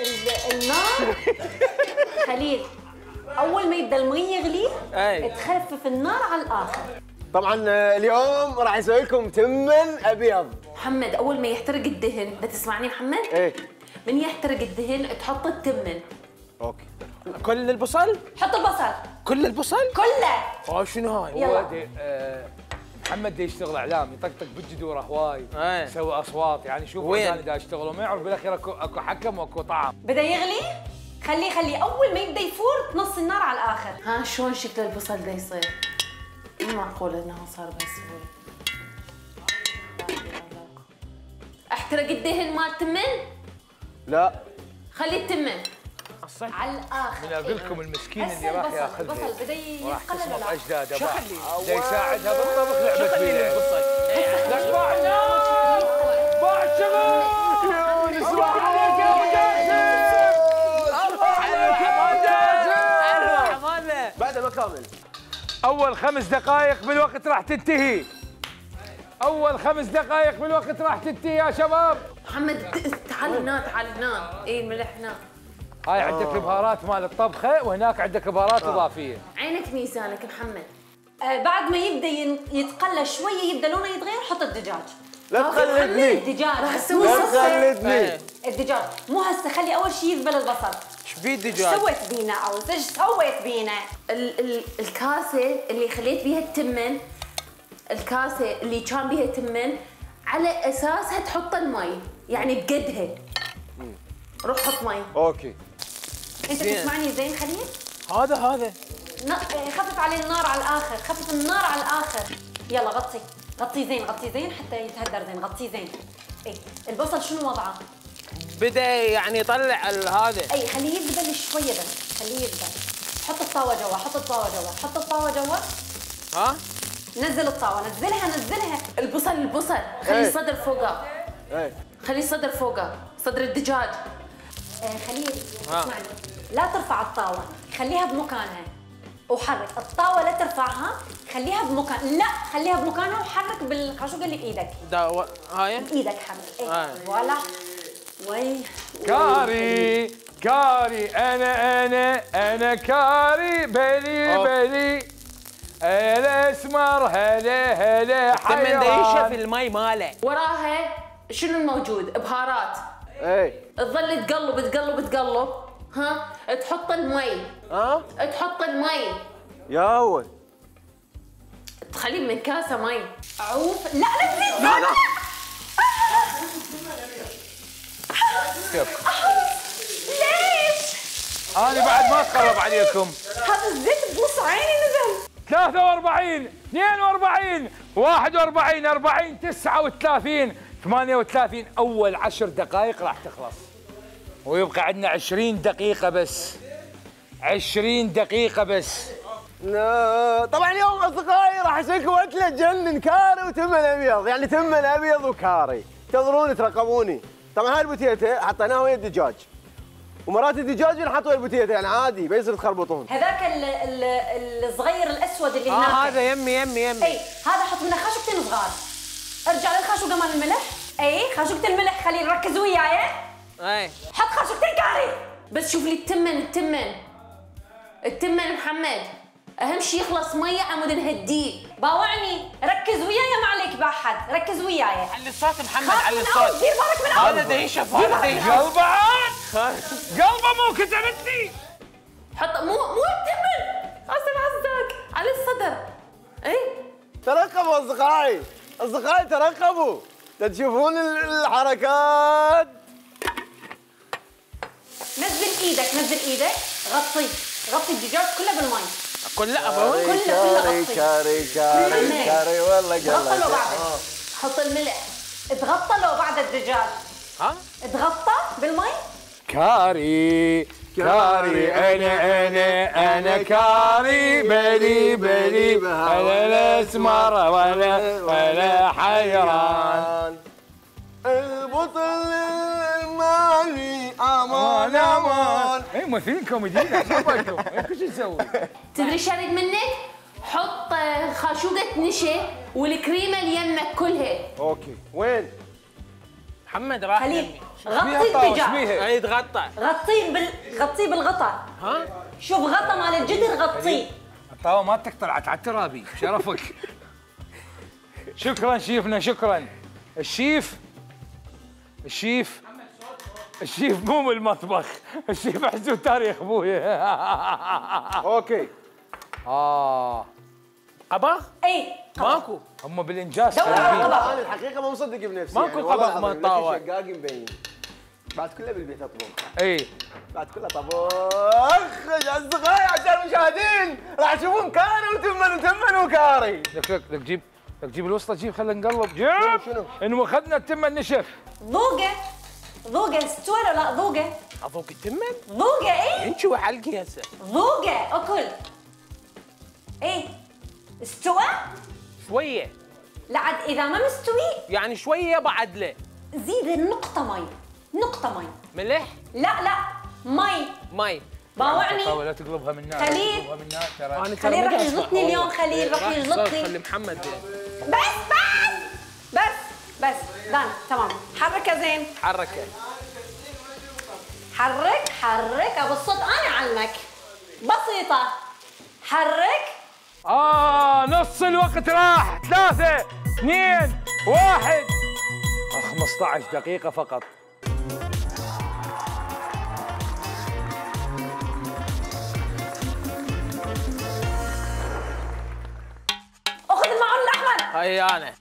ال- النار خليل، اول ما يبدا المي يغلي أي. تخفف النار على الاخر. طبعا آه، اليوم راح اسوي لكم تمن ابيض. محمد أول ما يحترق الدهن، بتسمعني محمد؟ ايه من يحترق الدهن تحط التمن. اوكي. كل البصل؟ حط البصل كل البصل؟ كله. اه شنو هاي؟ هو يلا. دي آه محمد دي يشتغل اعلام، يطقطق بالجذور هواي، ايه. يسوي اصوات، يعني شوف وين؟ انا دا اشتغل وما يعرف بالاخير اكو اكو حكم واكو طعم. بدا يغلي، خليه خليه اول ما يبدا يفور نص النار على الاخر. ها شلون شكل البصل ده يصير؟ مو معقول انه صار بهالسهولة. احترق الدهن مال التمن؟ لا خلي التمن. على الاخر. من اقول لكم المسكين هسه اللي راح البصل- ياخذها البصل بدا وراح يتقلل تصمت ولا اجداده شغلي. باع. دا يساعدها بالطبخ لعبه شغلي فيها. البصل. لك باع النار، باع الشغل. الله عليك يا ابو جاسم، الله عليك يا ابو جاسم. حماده بعد ما كامل. اول خمس دقائق بالوقت راح تنتهي. اول خمس دقائق بالوقت راح تنتهي يا شباب. محمد تعال هنا تعال هنا. اي الملح هنا. هاي عندك البهارات مال الطبخه، وهناك عندك بهارات اضافيه. عينك ميزانك محمد. آه بعد ما يبدا ين- يتقلى شويه، يبدا لونه يتغير، حط الدجاج. لا تقلدني. الدجاج راح مو أسوي لا هسه. تقلدني. ايه الدجاج مو هسه، خلي اول شيء يذبل البصل. ايش بيه ايش الدجاج؟ سويت بينا او ايش سويت بينا؟ ال ال الكاسه اللي خليت بيها التمن، الكاسه اللي كان بيها تمن، على اساسها تحط المي، يعني بقدها. روح حط مي. اوكي. انت زين. تسمعني زين خليل؟ هذا هذا ن- آه، خفف عليه النار على الاخر، خفف النار على الاخر. يلا غطي غطي زين، غطي زين حتى يتهدر زين، غطيه زين. اي البصل شنو وضعه؟ بدا يعني يطلع ال- هذا. اي خليه يذبل شويه بس، خليه يبدا. حط الطاوه جوا، حط الطاوه جوا، حط الطاوه جوا. ها؟ نزل الطاوه، نزلها نزلها. البصل البصل خلي إيه. الصدر فوقه. ايه خلي الصدر فوقه، صدر الدجاج. آه خليل اسمعني، لا ترفع الطاوه، خليها بمكانها وحرك الطاوه، لا ترفعها، خليها بمكان، لا خليها بمكانها وحرك بالخاشوقه اللي بايدك. دا و... هاي بايدك حرك. ايه آه. فوالا. وي كاري كاري انا انا انا كاري بلي أوه. بلي الاسمر هلا هلا التمن ده ينشف حيران. المي ماله. وراها شنو الموجود؟ بهارات. ايه تظل تقلب تقلب تقلب، ها؟ تحط المي، ها تحط المي، يا اول تخليه من كاسه مي. عوف. لا لا تزيد. لا لا ليش؟ انا بعد ما اتقرب عليكم. هذا الزيت بنص عيني نزل. ثلاثة وأربعين اثنين وأربعين واحد وأربعين أربعين تسعة وثلاثين ثمانية وثلاثين. اول عشر دقائق راح تخلص ويبقى عندنا عشرين دقيقة بس. عشرين دقيقة بس. لا طبعا اليوم اصدقائي راح اسويكم اكله تجنن، كاري وتمن ابيض، يعني تمن ابيض وكاري. انتظروني ترقبوني. طبعا هاي البوتيته حطيناها ويا الدجاج، ومرات الدجاج نحط ويا البوتيته، يعني عادي بيصير تخربطون. هذاك ال- ال- الصغير الاسود اللي هناك. اه هذا يمي يمي يمي. اي هذا حط منه خاشوقتين صغار. ارجع للخاشوقه مال الملح. اي خاشوقه الملح، خليل ركز وياي. اي حط خاشوقتين كاري. بس شوف لي التمن التمن التمن محمد، اهم شيء يخلص ميه عمود نهديه. باوعني، ركز وياي ما عليك باحد، ركز وياي. على الصوت محمد، خاف على من أول، الصوت. دير بالك من أول. هذا ده ينشف، هذا ده ينشف. قلبه عاد قلبه مو كتبتني. حط مو مو التمن، غصب عزك على الصدر. اي ترقبوا اصدقائي، اصدقائي ترقبوا تشوفون الحركات. نزل ايدك، نزل ايدك، غطيه، غطي الدجاج كله بالمي. كلها ابو كله كله كاري غطي. كاري كاري محمد. كاري والله اضغطه لو قلبي. بعد. حط الملح. اضغطه لو بعد الدجاج. ها؟ اضغطه بالمي. كاري كاري انا انا انا كاري بلي بلي انا الاسمر ولا ولا حيران. البطل المالي امان امان. اي ممثلين كوميديين عشان بالكم ايش نسوي؟ تدري ايش اريد منك؟ حط خاشوقة نشا والكريمة اللي يمك كلها. اوكي وين؟ محمد راح خليل يمي. غطي طاوة، الدجاج. شبيها؟ اي يتغطى. غطيه بال غطيه بالغطا. ها؟ شوف غطا مال الجدر غطيه. الطاوة ما تقطع على الترابي شرفك. شكرا شيفنا شكرا. الشيف الشيف الشيف مو من المطبخ، الشيف حزو تاريخ ابويا. اوكي اه قبغ؟ اي ماكو. هم بالانجاز دور على خايفين. القبغ. انا الحقيقه ما مصدق بنفسي. ماكو يعني والله قبغ العظيم ما طاوة. لكن شقاق مبين. بعد كله بالبيت اطبخ، اي بعد كله طبخ. اصدقائي عشان المشاهدين راح تشوفون كاري وتمن وتمن وكاري. لك لك لك جيب لك جيب الوسطى، جيب خلينا نقلب. جيب شنو؟ انه اخذنا التمن نشف. ذوقه ذوقه استوى ولا لا؟ ذوقه اذوق التمن؟ ذوقه. اي انشوي حلقي هسه. ذوقه اكل. اي استوى؟ شويه لا عاد اذا ما مستوي يعني شويه بعد له. زيد نقطه مي، نقطه مي. ملح؟ لا لا مي. مي. باوعني. حاول لا تقلبها من نار. خليل. تقلبها من نار ترى. انا خليل راح يجلطني اليوم، خليل راح يجلطني. خلي محمد. بس بس بس بس دان تمام. حركه زين، حركه. حرك حرك ابو الصوت، انا اعلمك بسيطه. حرك. اه نص الوقت راح. ثلاثة اثنين واحد. خمسة عشر دقيقة فقط. اخذ المعون الاحمر. هاي انا.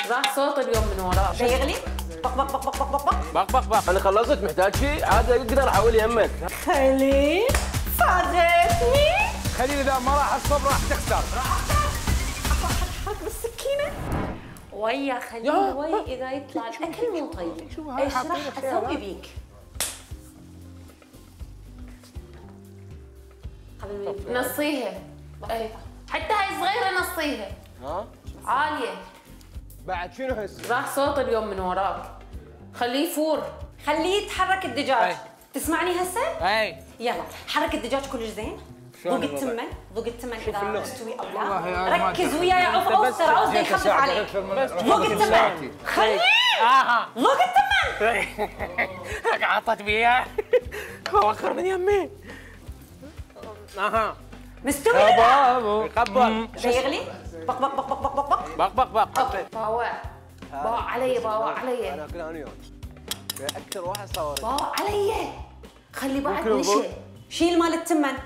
راح صوت اليوم من وراه. شي يغلي. بق بق بق بق بق بق. بق بق بق. انا خلصت، محتاج شيء عاد اقدر احول يمك. خليل فاجئتني. خليل اذا ما راح الصبر راح تخسر. حرك بالسكينه. ويا خليل ويا اذا يطلع الاكل مو طيب ايش راح اسوي بيك؟ حبيبي نصيها. اي حتى هاي صغيره نصيها. ها عاليه. بعد شنو هسه؟ راح صوت اليوم من وراك. خليه يفور. خليه يتحرك الدجاج. أي. تسمعني هسه؟ اي يلا حرك الدجاج كلش زين. ذوق التمن، ذوق التمن اذا مستوي او والله لا. يا ما ركز وياي عوف عوف ترى عوف يخفف عليك. ذوق التمن. خليه اها ذوق التمن. عطت بيها وخر من يمي. اها مستوي لا؟ يقبل يغلي؟ بق بق بق بق بق بق بق بق بق. باوع باوع علي باوع علي انا اكل انا وياك. اكثر واحد صور. باوع علي. خلي بعد نشا. شيل مال التمن.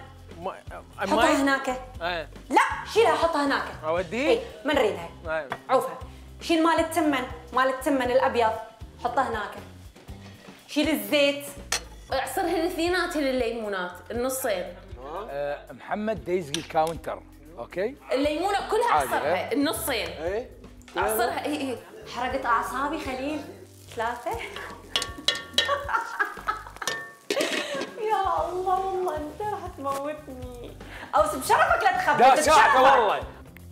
حطها هناك. ايه لا شيلها حطها هناك. اوديه؟ اي ما نريدها. ايه عوفها. شيل مال التمن، مال التمن الابيض حطه هناك. شيل الزيت. اعصر الاثنينات الليمونات النصين. آه، محمد ديزقي الكاونتر، اوكي؟ الليمونه كلها عادي، اعصرها إيه؟ النصين. اي اعصرها اي اي. حرقت اعصابي خليل. ثلاثة. يا الله والله انت راح تموتني. اوس بشرفك لا تخبط. لا ساعته والله.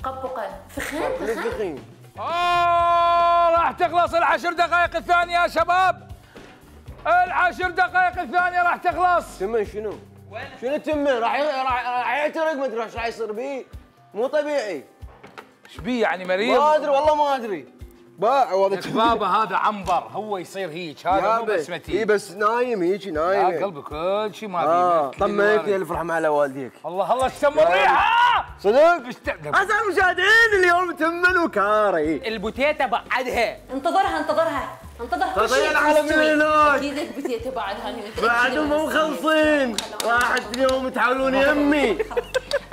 قبقه فخان فخان. دقيقين. آه راح تخلص العشر دقائق الثانية يا شباب. العشر دقائق الثانية راح تخلص. تمن شنو؟ شنو تمن؟ راح ي- راح راح يعترق ما ادري ايش راح يصير بيه. مو طبيعي. ايش بيه يعني مريض؟ ما ادري والله ما ادري. باع والله بابا هذا عنبر، هو يصير هيك، هذا مو بسمتي. اي بس نايم هيك يا نايم. قلبي كل شيء ما اه فيه. طمنك الف رحمه على والديك. الله الله اشتم الريحة. صدق؟ اشتم. اعزائي المشاهدين اليوم تمن وكاري. البوتيتا بعدها. انتظرها انتظرها انتظر كل طيب شيء على من هناك. اكيد البتيتا بعد هاني. بعدهم مو مخلصين. راحت اليوم تحاولون يمي.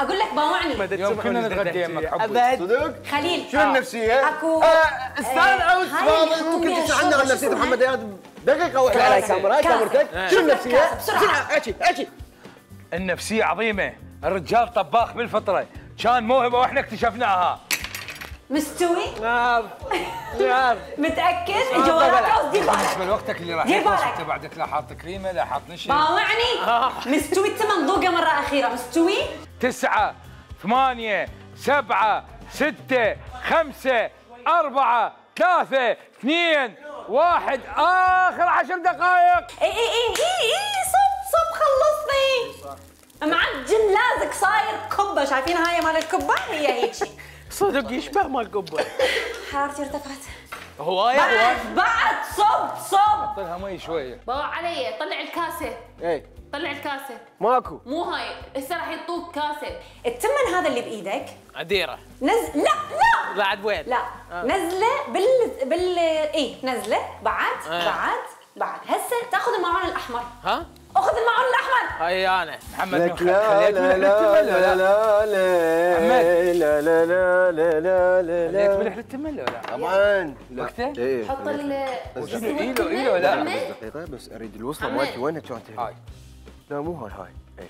اقول لك باوعني. يوم كنا نتغدى يمك حبي. صدق؟ خليل شنو النفسيه؟ اكو آه، استنى اوس هاي فاضل اللي ممكن يحطون تسمع فيها عنا عن الشوربة، نفسيه شو محمد اسمها؟ اياد دقيقه واحده على كاسة. كاميرا. هاي كاسة. كاميرتك. شوف شنو لك النفسيه؟ كاسة، بسرعة. بسرعه احكي احكي. النفسية عظيمة، الرجال طباخ بالفطرة، كان موهبة واحنا اكتشفناها. مستوي؟ نعم نعم. متاكد؟ جوالات اوس دير بالنسبة بالك. لوقتك اللي راح دير يخلص بالك. انت بعدك لا حاط كريمة لا حاط نشا. باوعني. مستوي التمن ذوقه مره اخيره. مستوي؟ تسعة ثمانية سبعة ستة خمسة أربعة ثلاثة اثنين واحد آخر عشر دقائق. اي اي اي اي اي صب صب خلصني. معجن لازق صاير كبه. شايفين هاي مال الكبه؟ هي هيجي. صدق يشبه مال قبه. حرارتي ارتفعت. هوايه بعد هوايه. بعد صب صب. طلها مي شوية. باوع علي طلع الكاسه. ايه طلع الكاسه. ماكو. مو هاي هسه راح يعطوك كاسه. التمن هذا اللي بايدك عديره. نز لا لا بعد وين؟ لا نزله بال بال اي نزله بعد آه. بعد بعد هسه تاخذ المعون الاحمر. ها؟ اخذ المعون الاحمر. هاي انا. محمد لك من لا خليت لا ملح لا للتمن ولا لا لا؟ لا محمد. لا لا لا لا لا لا خليت لا. ملح للتمن ولا لا؟ طبعا لا. وقته؟ ايه حط ال شنو ايده ايده ولا لا؟ محمد. دقيقة بس اريد الوصلة محمد. مالتي وينها كانت هنا؟ هاي لا مو هاي هاي اي هاي.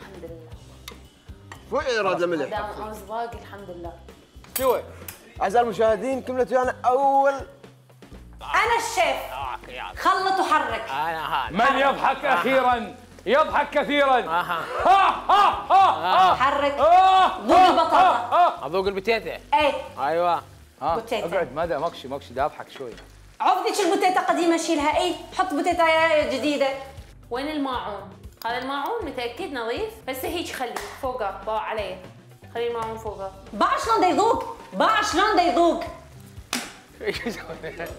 الحمد لله. شوي راد ما الملح. دام اوز باقي الحمد لله. شوي. اعزائي المشاهدين كملت ويانا اول. انا الشيف. خلط وحرك. انا هذا. من يضحك أخيرا يضحك كثيرا. اها. ها ها ها حرك. ها ذوق البطاطا. اذوق البوتيتا. ايه ايوه. ها بوتيتا. اقعد ماذا ماكشي ماكشي دا اضحك شوي. عوف ذيك البوتيتا قديمه شيلها. اي حط بوتيتا جديده. وين الماعون؟ هذا الماعون متاكد نظيف؟ هسه هيك خليه فوقه باوع علي. خلي الماعون فوقه. باع شلون دا يذوق. باع شلون دا يذوق. هيجي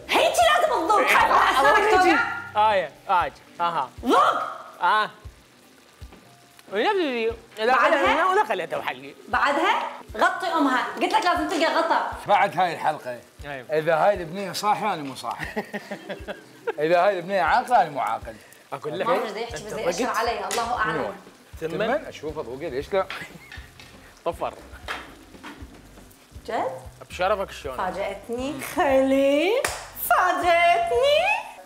لازم تذوق. خايف على اسنانك توقع. هاي هاي اها. ذوق. اه. ونبدي لا بعدها؟ خليها ولا خليتها بحلي. بعدها غطي امها. قلت لك لازم تلقى غطا. بعد هاي الحلقة أيوة. إذا هاي البنية صاحية أنا مو صاحي. إذا هاي البنية عاقلة أنا مو عاقل. اقول لك ما ادري يحكي بس يأشر علي الله اعلم. تمن تمن أشوفه ذوقي ليش لا؟ طفر. جد؟ بشرفك شلون؟ فاجأتني خليل. فاجأتني.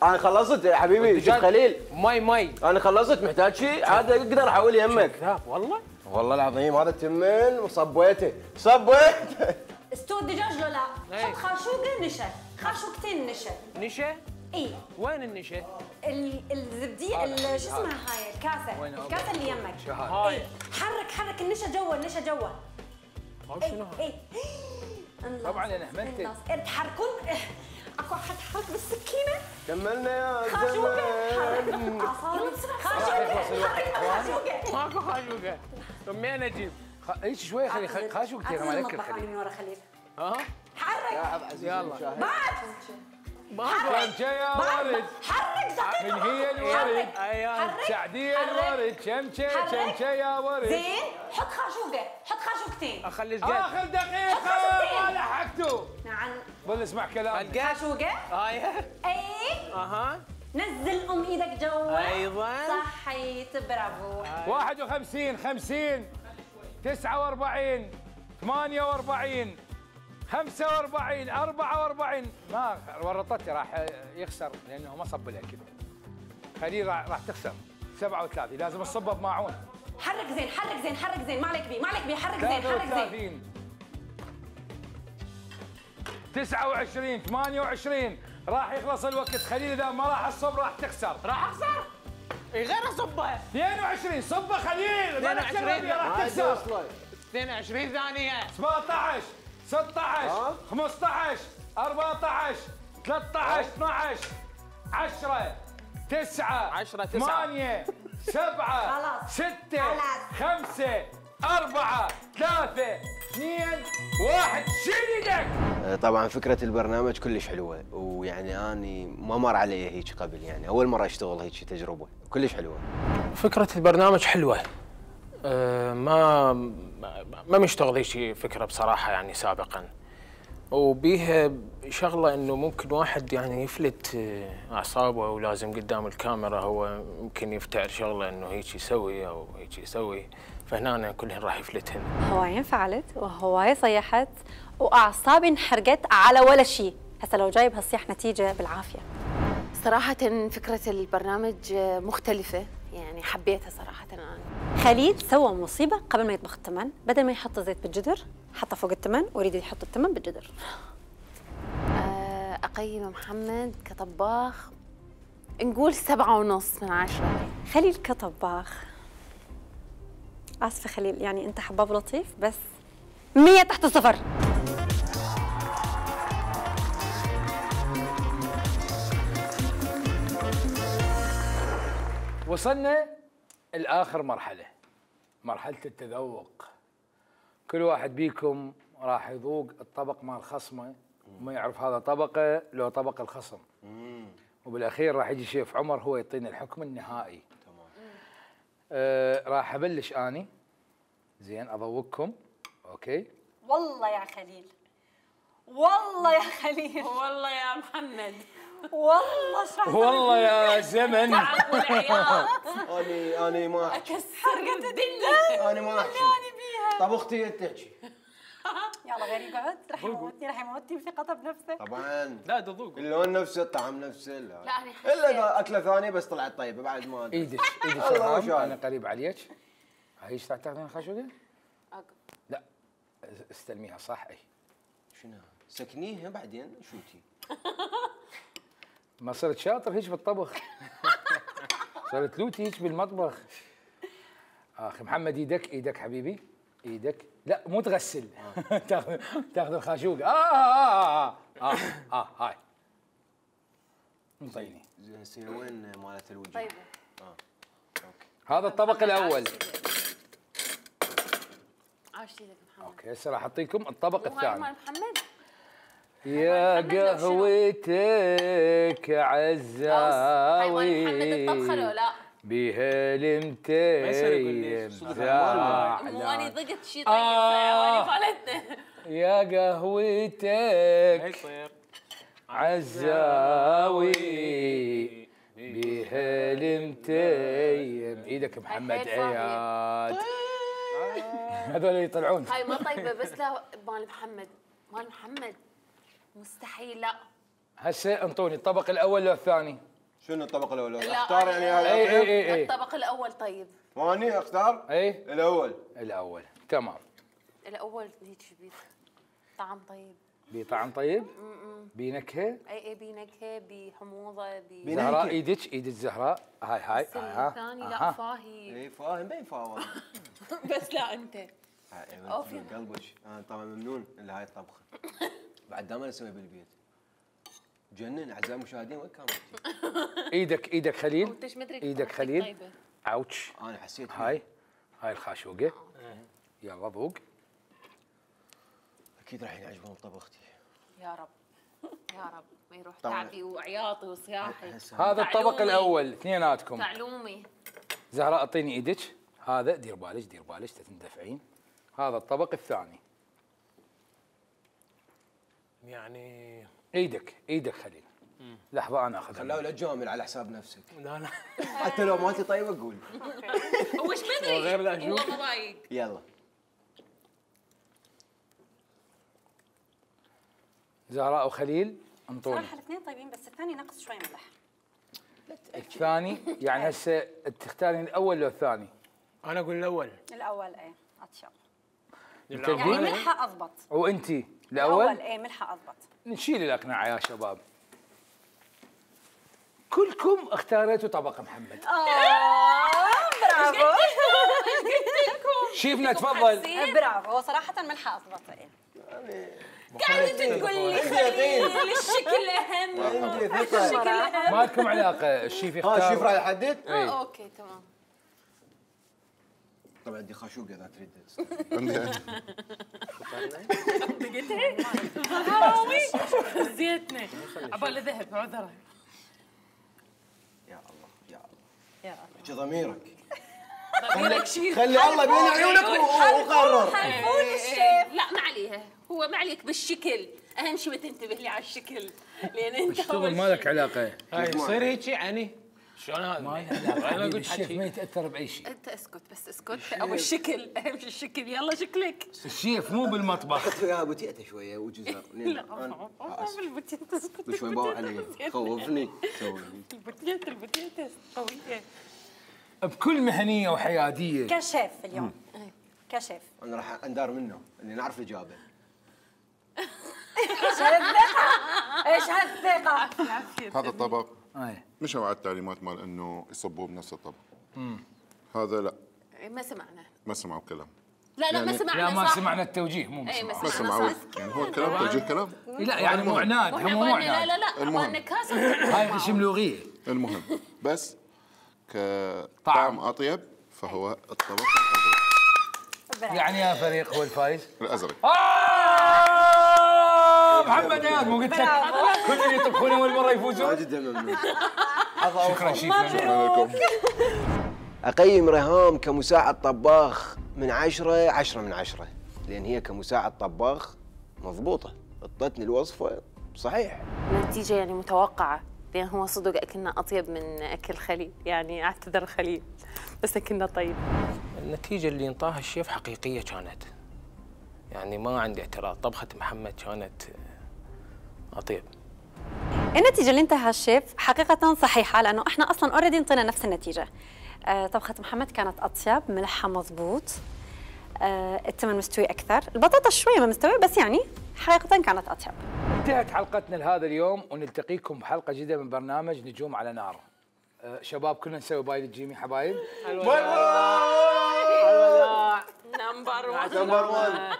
انا خلصت يا حبيبي. شوف خليل مي مي. انا خلصت. محتاج شيء عاد اقدر احول يمك. كذاب والله. والله العظيم هذا تمن وصبيته صبيته. استوى الدجاج لو لا؟ إيه. حط خاشوقه نشا. خاشوقتين نشا. نشا. اي وين النشا؟ ال- الزبديه ال- شو اسمها هاي الكاسه الكاسه اللي يمك هاي. اي حرك حرك النشا جوا النشا جوا هاي شنو هاي؟ اي طبعاً أنا هملتك. تحركون اكو احد حرك بالسكينه كملنا يا خاشوقه زلمه. حرك اعصابي خاشوقه حرك خاشوقه ماكو خاشوقه. طب مين اجيب؟ ايش شوي خلي خلي- خاشوق كثير ما اعتزل لك المطبخ أنا خلي من ورا خليل ها؟ حرك يلا. بعد شمشة يا ورد حرك دقيقه من هي الورد ايوه سعدية الورد شمشة شمشة يا ورد زين حط خاشوقه حط خاشوقتين اخلي القد. اخر دقيقة ما لحقتوا نعم ظل اسمع كلام القد. خاشوقه هاي. اي اها. نزل ام ايدك جوا أيضاً. صحيت برافو واحد وخمسين خمسين تسعة وأربعين ثمانية وأربعين خمسة وأربعين أربعة وأربعين ما ورطتي راح يخسر لأنه ما صب الأكل خليل راح راح تخسر سبعة وثلاثين لازم تصبه بماعون حرك زين حرك زين حرك زين ما عليك بيه ما عليك بيه حرك زين ثلاثة حرك زين وثلاثين تسعة وعشرين ثمانية وعشرين راح يخلص الوقت خليل إذا ما راح الصب راح تخسر راح اخسر؟ اي غير اصبها. اثنين وعشرين صبه خليل ما نخسر اثنين وعشرين. راح تخسر اثنين وعشرين ثانية. سبعة عشر ستة عشر خمسة عشر أربعة عشر ثلاثة عشر اثنا عشر عشرة تسعة عشرة تسعة. ثمانية سبعة خلاص. ستة خلاص. خمسة أربعة ثلاثة اثنين واحد شيل ايدك طبعا فكره البرنامج كلش حلوه، ويعني اني ما مر علي هيك قبل، يعني اول مره اشتغل هيك تجربه كلش حلوه. فكرة البرنامج حلوة. أه ما ما مشتغل هيك فكرة بصراحة يعني سابقا. وبيها شغلة انه ممكن واحد يعني يفلت اعصابه ولازم قدام الكاميرا هو ممكن يفتعل شغلة انه هيك يسوي او هيك يسوي، فهنا كلهن راح يفلتهن. هواية انفعلت وهواية صيحت واعصابي انحرقت على ولا شيء، هسه لو جايب هالصيح نتيجة بالعافية. صراحة فكرة البرنامج مختلفة، يعني حبيتها صراحة أنا. خليل سوى مصيبة قبل ما يطبخ التمن، بدل ما يحط زيت بالجدر حطه فوق التمن ويريد يحط التمن بالجدر. آه، أقيم محمد كطباخ نقول سبعة ونص من عشرة. خليل كطباخ آسفة خليل، يعني أنت حباب لطيف بس مية تحت الصفر. وصلنا لآخر مرحلة، مرحلة التذوق. كل واحد بيكم راح يذوق الطبق مال خصمه وما يعرف هذا طبقه لو طبق الخصم. وبالأخير راح يجي شيف عمر هو يعطينا الحكم النهائي. تمام. آه راح أبلش أني. زين أذوقكم. أوكي. والله يا خليل والله يا خليل والله يا محمد والله ايش راح والله يا زمن. تعب والعياط اني اني ما احكي أكسر الدنيا. انا ما احكي طب اختي تحكي. يلا غير يقعد راح يموتني راح يموتني بثقته بنفسه. طبعا لا تذوق. اللون نفسه الطعم نفسه لا, لا، أنا حسيت. الا اذا اكله ثانيه بس طلعت طيبه بعد ما أدري. ايدك ايدك الله ما شرام، شاء انا قريب عليك. هاي ايش تعتقدين خشوقه؟ لا استلميها صح. اي شنو سكنيها بعدين شوتي. ما صرت شاطر هيك بالطبخ. صرت لوتي هيك بالمطبخ. اخي محمد ايدك ايدك حبيبي ايدك. لا مو تغسل. تاخذ تاخذ الخاشوقه. اه اه اه اه اه هاي انطيني. زين هسه وين مالت الوجه؟ طيب اه اوكي. هذا الطبق الاول. عاش ايدك محمد. اوكي هسه راح اعطيكم الطبق مو هاي الثاني. مال محمد. يا محمد لو شنو؟ قهوتك هاي مال محمد عزاوي الطبخة لو لا؟ بها ما يصير يقول لي المتيم صدق مو اني زعلان. ضقت شي طيب آه. فعواني فلتنا. يا قهوتك يصير عزاوي بها المتيم. ايدك محمد هاي صاحية. عياد. هذول يطلعون. هاي ما طيبة بس لا مال محمد مال محمد مستحيل لا. هسه انطوني الطبق الاول لو الثاني. شنو الطبق الاول؟ لا، اختار يعني أنا- هذا اي الأكل؟ اي اي اي الطبق الأول طيب. واني اختار اي الاول. الاول تمام. الأول هيك بيت طعم طيب. بطعم طيب؟ بنكهه؟ اي اي بنكهه بحموضه ب زهراء ايدك ايدك زهراء هاي هاي بس ها الثاني لا فاهي اي فاهم بين فاهم. بس لا انت اوفي قلبك انا طبعا ممنون لهاي الطبخه. بعد دائما اسويها بالبيت. جنن اعزائي المشاهدين وين كانت؟ ايدك ايدك خليل وانت ايش مدري ايدك خليل اوتش انا حسيت هاي هاي الخاشوقه يلا ذوق. اكيد راح يعجبهم طبختي. يا رب يا رب ما يروح تعبي وعياطي وصياحي. هذا الطبق الاول اثنيناتكم. تعلومي زهراء اعطيني ايدك. هذا دير بالك دير بالك تندفعين. هذا الطبق الثاني. يعني ايدك ايدك خليل. لحظه انا اخذها. خلاوي لا تجامل على حساب نفسك. لا لا حتى لو مالتي طيبه قول. هو ايش مدري غير لا شو والله مضايق. يلا زهراء وخليل انطوني. صراحه الاثنين طيبين بس الثاني نقص شوي ملح. الثاني يعني هسه تختارين الاول لو الثاني؟ انا اقول الاول. الاول ايه اطيب. الأول. يعني ملحه اضبط. وانتي الاول الاول؟ ايه ملحه اضبط. نشيل الاقناع يا شباب. كلكم اختاريتوا طبق محمد. برافو. شيفنا تفضل. برافو هو صراحه ملحه اضبط ايه. قاعدة تقول لي خليل الشكل اهم. عندي ثقه. ما لكم علاقه الشيف يختار. ها الشيف راح يحدد؟ اه اوكي تمام. طبعا عندي خاشوقه اذا تريد. حرامي زيتنا عبالي ذهب عذره. يا الله يا الله يا الله ضميرك. ضميرك شيء خلي الله بين عيونك وقرر. حلفون الشيف. لا ما عليها هو ما عليك بالشكل اهم شيء ما تنتبه لي على الشكل لان انت اشتغل ما لك علاقه. هاي يصير هيك يعني شلون هذا؟ ما لك علاقه. انا قلت الشيف ما حكي يتاثر باي شيء. انت اسكت بس اسكت ابو الشكل اهم شيء الشكل يلا شكلك. الشيف مو بالمطبخ. اخذت وياها بوتيته شويه وجزر. لا بالبوتيتا اسكت شوي باوع علي خوفني سوي. البوتيتا البوتيتا قويه. بكل مهنيه وحياديه. كشيف اليوم كشيف. انا راح اندار منه اللي نعرف الاجابه. ايش هالثقه ايش هالثقه. هذا الطبق اي مشوا على التعليمات مال انه يصبوه بنفس الطبق. هذا لا ما سمعنا. ما سمعوا الكلام. لا لا ما سمعنا لا ما صح. سمعنا التوجيه مو اي ما مسمع. ما سمعنا سمعوا صح. يعني هو الكلام توجيه كلام. لا يعني مو عناد واحنا هم مو بالنا لا عناد. لا لا المهم. بالنا كاسه. هاي اسم لغيه. المهم بس كطعم اطيب فهو الطبق الازرق. يعني يا فريق هو الفايز. الازرق. آه محمد اياد مو قلت لك كل اللي يطبخون اول مره يفوزون. جدا ممنون. شكرا شيخنا. شكرا لكم. اقيم ريهام كمساعد طباخ من عشرة عشرة من عشرة لان هي كمساعد طباخ مضبوطه. اعطتني الوصفه صحيح. النتيجة يعني متوقعة لأن هو صدق أكلنا أطيب من أكل خليل يعني أعتذر خليل بس أكلنا طيب. النتيجة اللي انطاها الشيف حقيقية كانت يعني ما عندي اعتراض. طبخة محمد كانت أطيب. النتيجة اللي انتهى الشيف حقيقة صحيحة لأنه احنا أصلاً اوريدي انطينا نفس النتيجة. آه طبخة محمد كانت أطيب، ملحها مضبوط، آه التمن مستوي أكثر، البطاطا شوية ما مستوية بس يعني حقيقة كانت أطيب. انتهت حلقتنا لهذا اليوم ونلتقيكم بحلقة جديدة من برنامج نجوم على نار. آه شباب كلنا نسوي باي للجيمي حبايب. نمبر واحد نمبر واحد.